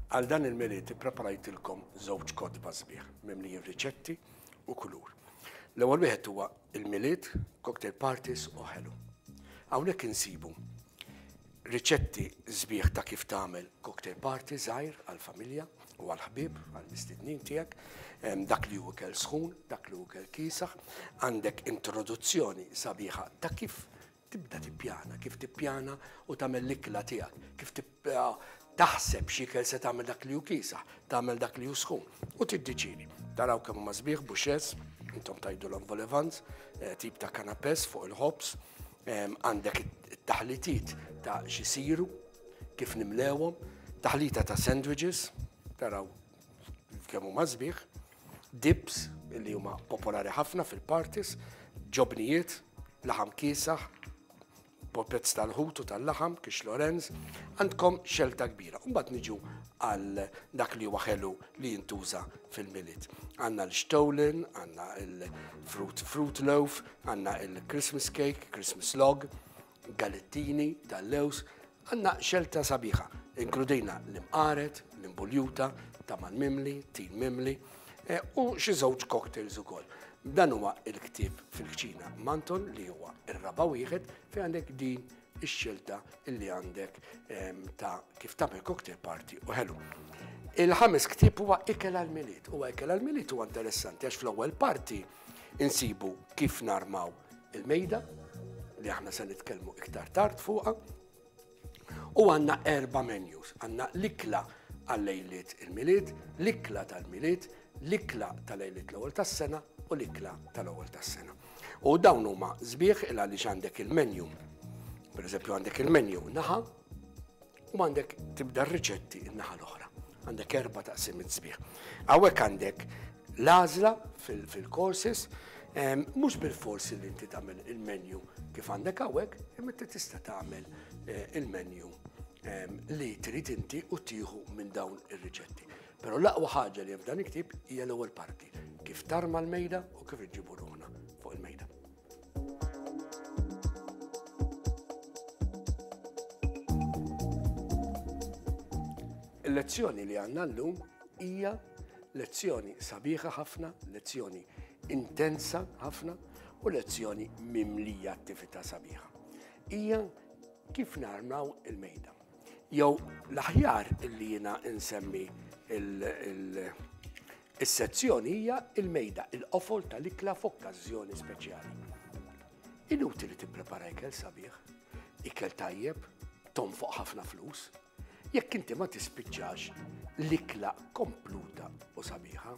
Għal dan il-Milied ippreparajtilkom żewġ kotba sbieħ mimlijin riċetti u kulur. L-ewwel wieħed huwa il-Milied, cocktail parties u ħelu. Hawnhekk insibu riċetti sbieħ ta' kif tagħmel cocktail party żgħir għall-familja u għall-ħbieb, għall-mistednin tiegħek, dak li hu ikel sħun, dak li hu ikel kiesaħ, għandek introduzzjoni sabiħa ta' kif Tibda tippjana, kif tippjana u tagħmel l-ikla tiegħek, kif taħseb x'ikel se tagħmel dak li hu kiesaħ, tagħmel dak li hu sħun u tiddeċiedi. Taraw kemm huma sbieħ bouchées, intom tgħidulhom volevants, eh, tip ta' canapés fuq il-ħobż, għandek it-taħlitiet ta' xisiru, kif nimlewhom, taħlita ta' sandwiches, taraw kemm huma sbieħ, dips li huma popolari ħafna fil-parties, ġobnijiet, laħam kiesaħ, popets tal-ħut u tal-laħam, kix Lorenz, għandkom xelta kbira. Mbagħad niġu għal dak li huwa ħelu li jintuża fil-Milied. Għandna l-stollen, għandna il-fruit fruit loaf, għandna il-Christmas cake, Christmas log, galettini tal-lews, Għandna xelta sabiħa. Inkludejna l-imqaret, l-imbuljuta, tamal mimli, tin mimli eh, u xi żewġ cocktails ukoll. Dan huwa il-ktieb fil-kċina Manton li huwa ir-raba' wieħed fejn għandek din ix-xelta illi għandek ehm, ta' kif tagħmel cocktail party u ħelu. Il-ħames ktieb huwa ikel għal-Milied. Huwa ikel għal-Milied huwa interessanti għax fl-ewwel parti insibu kif narmaw il-mejda li aħna se nitkellmu iktar tard fuqha. U għandna erba' menus. Għandna l-ikla għal-lejliet il-Milied, l-ikla tal-Milied, l-ikla tal-lejliet l-ewwel tas-sena u l-ikla tal-ewwel tas-sena. U dawn huma sbieħ il għaliex għandek il-menu. Per eżempju għandek il-menu naħa U għandek tibda r-riċetti n-naħa l-oħra. Għandek erba' taqsimiet sbieħ. Hawnhekk għandek l-għażla fil-courses, mhux bil-forsi li inti tagħmel il-menu kif għandek hawnhekk, imma inti tista' tagħmel eh, il-menu li trid inti u tieħu minn dawn ir-riċetti. Però l-aqwa ħaġa li hemm f'dan il-ktieb hija l-ewwel parti, kif tarma l-mejda u kif inġibu ruħna fuq il-mejda. Il-lezzjoni li għandna llum hija lezzjoni sabiħa ħafna, lezzjoni intensa ħafna u lezzjoni mimlija attività sabiħa. Hija kif narmaw il-mejda. Jew l-aħjar illi jiena insemmi Is-sezzjoni hija il-mejda, il-qofol tal-ikla f'okkażjoni speċjali. Inutili tipprepara ikel sabiħ, ikel tajjeb, tonfoq ħafna flus, jekk inti ma tispiċċax l-ikla kompluta u sabiħa.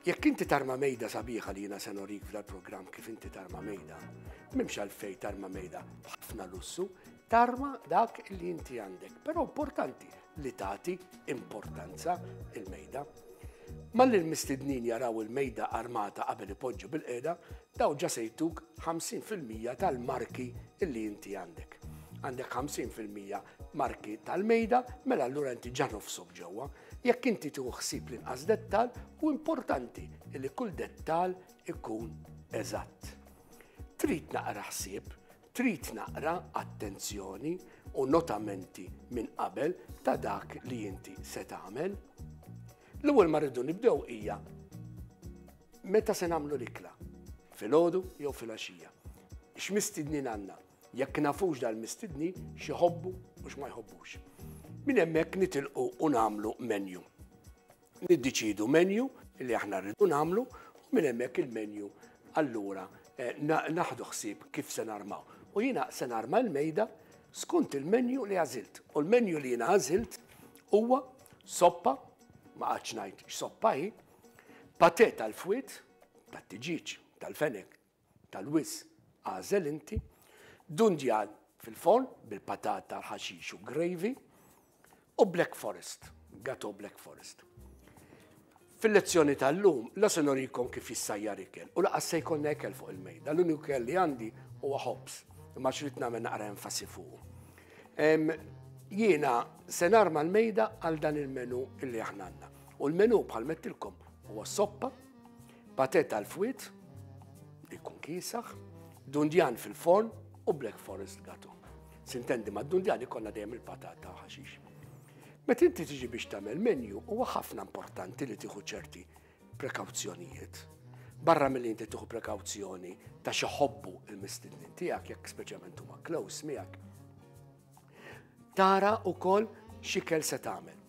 Jekk inti tarma mejda sabiħa li jiena se norik f'dal-programm kif inti tarma mejda, m'hemmx għalfejn tarma mejda b'ħafna lussu, tarma dak li inti għandek. Però importanti li tagħti importanza il-mejda. Malli l-mistednin jaraw il-mejda armata qabel ipoġġu bilqiegħda, dawn ġa se jtuk 50% tal-marki li inti għandek. Għandek 50% marki tal-mejda, mela allura inti ġa nofsok ġewwa. Jekk inti tieħu ħsieb l-inqas dettal, hu importanti li kull dettal ikun eżatt. Trid naqra ħsieb Trid naqra attenzjoni u notamenti minn qabel ta' dak li inti se tagħmel. L-ewwel ma rridu nibdew hija meta se nagħmlu l-ikla, filgħodu jew filgħaxija. X'mistednin għandna? Jekk nafux dal-mistednin x'iħobbu u x'ma jħobbux. Minn hemmhekk nitilqu u nagħmlu menu. Niddeċiedu menu li aħna rridu nagħmlu u minn hemmhekk il-menu allura eh, naħdu ħsieb kif se narmaw. U jiena se narma l-mejda skont il-menu li għażilt. U l-menu li jiena għażilt huwa soppa, ma qgħadx ngħid x'soppa hi, patè tal-fwiet, tat-tiġieġ, tal-fenek, tal-wiżż agħżel inti, dundjan fil-forn bil-patata, l-ħaxix u gravy, u Black Forest, gato Black Forest. Fil-lezzjoni tal-lum, la se norikom kif jissajjar ikel, u laqas se jkollna ikel fuq il-mejda. L-uniku ikel li għandi huwa ħobż, imma xrid nagħmel naqra enfasi fuq. Jiena se narma l-mejda għal dan il-menu illi aħna għandna. U l-menu bħal mettilkom huwa soppa, Patè tal-fwied, li jkun kiesaħ, dundjan fil-forn u Black Forest gato. Sintendi ma' dundjan ikollna dejjem il-patata u ħaxix. Meta inti tiġi biex tagħmel menu huwa ħafna importanti li tieħu ċerti prekawzjonijiet. Barra milli inti tieħu prekawzjoni ta' xi ħobbu il-mistednin tiegħek jekk speċjalment huma close miegħek. Tara wkoll x'ikel se tagħmel.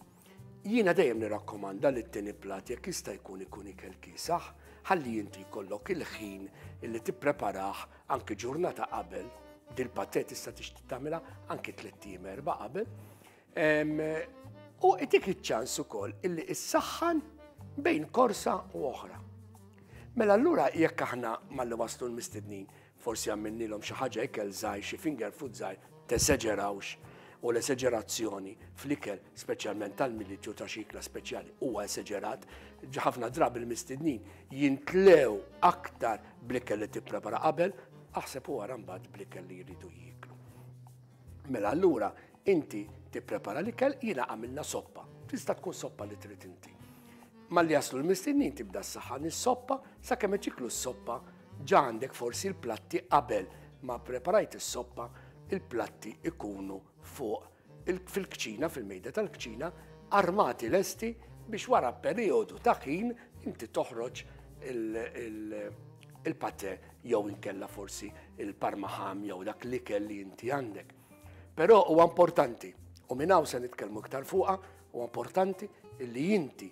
Jiena dejjem nirakkomanda li t-tieni plat jekk jista' jkun ikun ikel kiesaħ, ħalli inti jkollok il-ħin illi tippreparah anki ġurnata qabel. Dil-paté tista' tixtieq tagħmilha anki 3 ijiem 4 qabel. U itik iċ-ċans ukoll illi issaħħan bejn korsa u oħra. Mela allura jekk aħna malli waslu l-mistednin forsi għamilnilhom xi ħaġa ikel żgħir, xi finger food żgħir, teseġerawx u l-eseġerazzjoni fl-ikel, speċjalment tal-Milied jew ta' xi ikla speċjali, huwa eseġerat. Ħafna drabi l-mistednin jintlew aktar bl-ikel li tipprepara qabel, aħseb u wara mbagħad bl-ikel li jridu jieklu. Mela allura inti tipprepara l-ikel, jiena għamilna soppa. Tista' tkun soppa li trid inti. Malli jaslu l-mistednin tibda s-saħħan is-soppa, sakemm iċiklu s-soppa ġa għandek forsi l-platti qabel ma preparajt is-soppa, il-platti ikunu fuq fil-kċina, fil-mejda tal-kċina, armati lesti biex wara periodu ta' ħin inti toħroġ il-pate jew inkella forsi il-parmaham jew dak l-ikel li inti għandek. Però huwa importanti, u minn hawn se nitkellmu iktar fuqha, huwa importanti li inti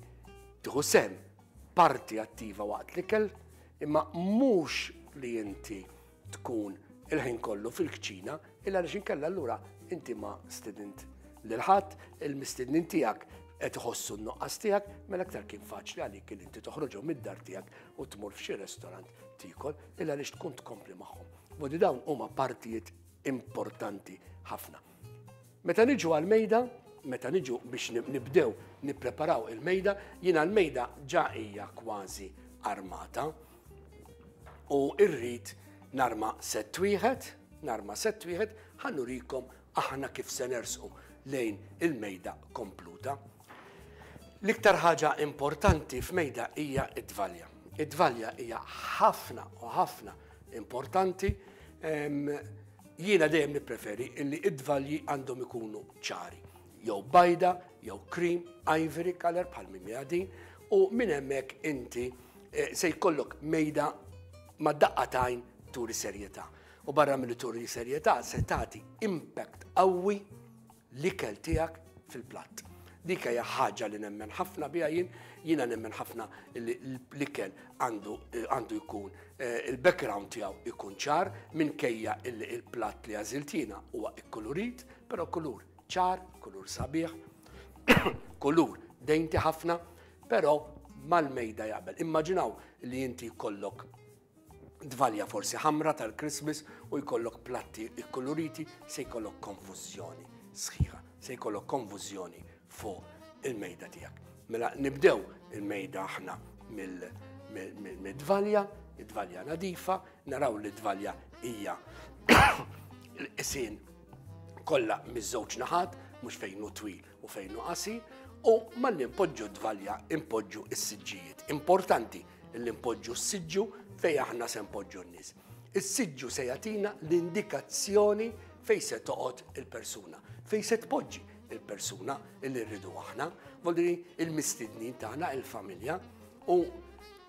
tieħu sehem parti attiva waqt l-ikel, imma mhux li inti tkun il-ħin kollu fil-kċina, illa għaliex inkella allura inti ma stedint lil ħadd, il-mistednin tiegħek qed iħossu n-nuqqas tiegħek, mela aktar kien faċli għalik li inti toħroġhom mid-dar tiegħek u tmur f'xi restorant tiekol, illa għaliex tkun tkompli magħhom. Bodi dawn huma partijiet importanti ħafna. Meta niġu għal-mejda, meta niġu biex nibdew nippreparaw il-mejda, jiena l-mejda ġa hija kważi armata u rrid narma sett wieħed, narma sett wieħed, ħa nurikom aħna kif se nersqu lejn il-mejda kompluta. L-iktar ħaġa importanti f'mejda hija id-dvalja. Id-dvalja hija ħafna u ħafna importanti. Jiena dejjem nippreferi illi id-dvalji għandhom ikunu ċari, jew bajda, jew cream, ivory color bħal minn din, u minn hemmhekk inti se jkollok mejda ma' daqqa t'għajn turi serjetà. U barra mill turi serjetà se tagħti impact qawwi l-ikel tiegħek fil-platt. Dik hija ħaġa li nemmen ħafna biha jien, jiena nemmen ħafna li l-ikel għandu jkun il-background tiegħu jkun ċar minkejja illi il-platt li għażilt jiena huwa ikkulurit, però kulur ċar, kulur sabiħ, kulur dainty ħafna, però mal-mejda jaqbel. Immaġinaw li inti jkollok dvalja forsi ħamra tal-Christmas u jkollok platti ikkuluriti, se jkollok konfużjoni sħiħa, se jkollok konfużjoni fuq il-mejda tiegħek. Mela nibdew il-mejda aħna mid-dvalja, id-dvalja nadifa, naraw li d-dvalja hija l-qisien kollha miż-żewġ naħat, mhux fejn hu twil u fejn hu qasir, u malli npoġġu d-dvalja impoġġu s-siġġijiet. Importanti li npoġġu s-siġġu fejn aħna se npoġġu n-nies. Is-siġġu se jagħtina l-indikazzjoni fejn se toqgħod il-persuna, fejn se tpoġġi il-persuna li rridu aħna, vuol il-mistednin tagħna, il-familja, u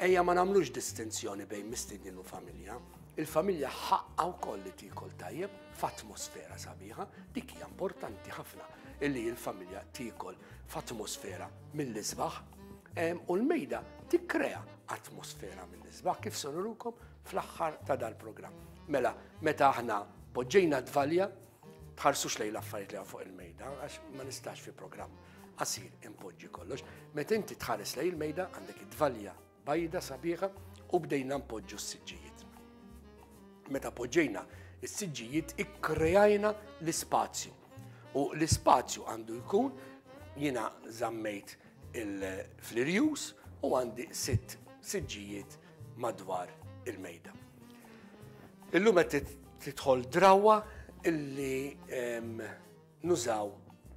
ejja ma nagħmlux distinzjoni bejn mistednin u familja. Il-familja ħaqqa wkoll li tiekol tajjeb f'atmosfera sabiħa, dik hija importanti ħafna illi l-familja tiekol f'atmosfera mill-isbaħ, u l-mejda tikkrea atmosfera mill-isbaħ kif se nurukom fl-aħħar ta' dal-programm. Mela, meta aħna poġġejna dvalja, tħarsux lejn l-affarijiet li fuq il-mejda, għax ma nistax fi programm qasir impoġġi kollox. Meta inti tħares lejn il-mejda għandek id-dvalja bajda sabiħa u bdejna npoġġu s-siġġijiet. Meta poġġejna s-siġġijiet ikkrejajna l-ispazju. U l-ispazju għandu jkun, jiena żammejt il-flirjus u għandi 6 siġġijiet madwar il-mejda. Illum qed tidħol drawa illi nużaw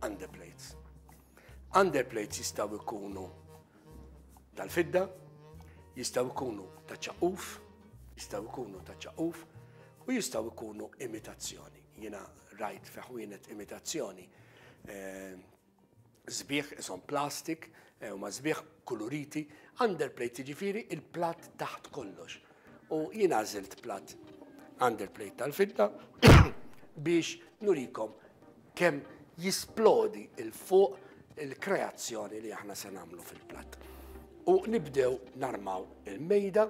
underplates. Underplates jistgħu jkunu tal-fidda, jistgħu jkunu ta' ċaquf, jistgħu jkunu ta' ċaquf u jistgħu jkunu imitazzjoni. Jiena rajt fi ħwienet imitazzjoni. Sbieħ ishom plastik, eh, huma sbieħ kuluriti, underplate jiġifieri il-platt taħt kollox. U jien għażilt platt underplate tal-fidda biex nurikom kemm jisplodi il fuq il-kreazzjoni li aħna se nagħmlu fil-platt. U nibdew narmaw il-mejda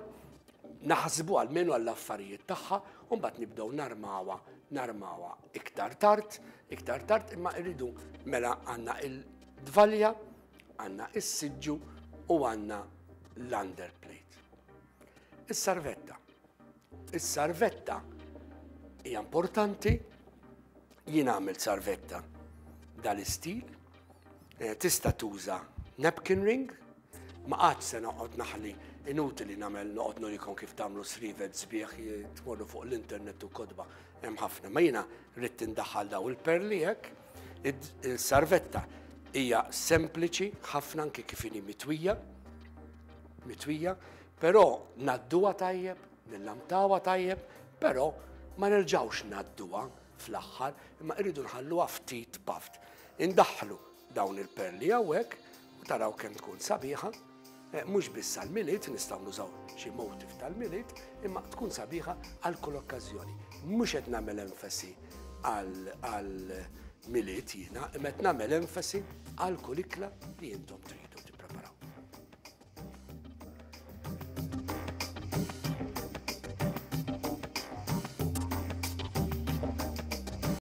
naħsbu almenu għall-affarijiet tagħha u mbagħad nibdew narmawha narmawha iktar tard, iktar tard imma rridu mela għandna il-dvalja, għandna is-siġġu u għandna l-underplate. Is-sarvetta. Is-sarvetta hija importanti, jien għamilt sarvetta dal-istil, eh, tista' tuża napkin ring, ma qatt se noqgħod naħli inutili nagħmel noqgħod nurikom kif tagħmlu srivet sbieħ tmorru fuq l-internet u kotba hemm ħafna. Ma jiena rrid tindaħħal daw il-perli hekk, il-sarvetta hija sempliċi ħafna anke kif inhi mitwija, mitwija, però ngħadduha tajjeb, nillamtawha tajjeb, però ma nerġgħux ngħadduha fl-aħħar, imma irridu nħalluha ftit paft. Indaħħlu dawn il-perli hawnhekk u taraw kemm tkun sabiħa, eh, mhux biss għall-Milied, nistgħu nużaw xi motif tal-Milied, imma tkun sabiħa għal kull okkażjoni. Mhux qed nagħmel enfasi għal Milied jiena, imma qed nagħmel enfasi għal kull ikla li intom tridu.